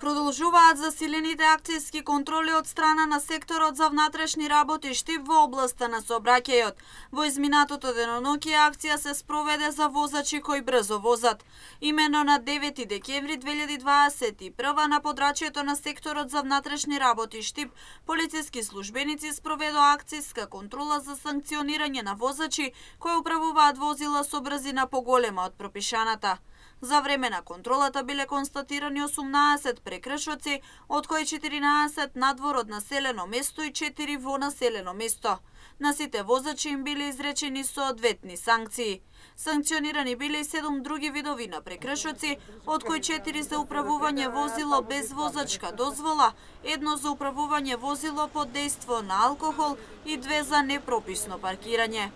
Продолжуваат засилените акцијски контроли од страна на секторот за внатрешни работи Штип во областа на сообраќајот. Во изминатото деноноќе акција се спроведе за возачи кои брзо возат. Имено на 9 декември 2021 на подрачјето на секторот за внатрешни работи Штип, полициски службеници спроведоа акцијска контрола за санкционирање на возачи кои управуваат возила со брзина поголема од пропишаната. За време на контролата биле констатирани 18 прекршоци, од кои 14 надвор од населено место и 4 во населено место. На сите возачи им биле изречени соодветни санкции. Санкционирани биле и 7 други видови на прекршоци, од кои 4 за управување возило без возачка дозвола, 1 за управување возило под дејство на алкохол и 2 за непрописно паркирање.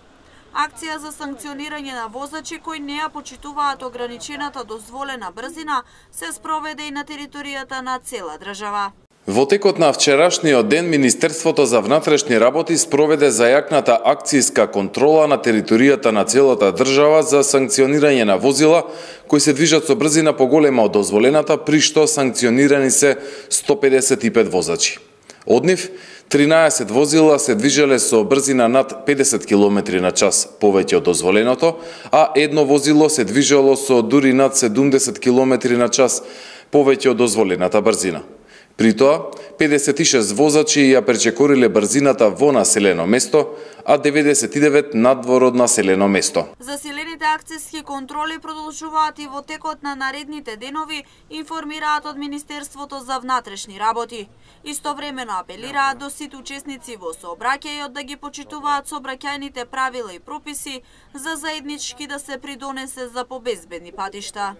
Акција за санкционирање на возачи кои не ја почитуваат ограничената дозволена брзина се спроведе и на територијата на цела држава. Во текот на вчерашниот ден, Министерството за внатрешни работи спроведе зајакната акцијска контрола на територијата на целата држава за санкционирање на возила кои се движат со брзина поголема од дозволената, при што санкционирани се 155 возачи. Од нив, 13 возила се движеле со брзина над 50 км на час повеќе од дозволеното, а едно возило се движело со дури над 70 км на час повеќе од дозволената брзина. При тоа, 56 возачи ја пречекориле брзината во населено место, а 99 надвор од населено место. Засилените акцијски контроли продолжуваат и во текот на наредните денови, информираат од Министерството за внатрешни работи. Истовремено апелираат до сите учесници во сообраќајот да ги почитуваат сообраќајните правила и прописи за заеднички да се придонесе за побезбедни патишта.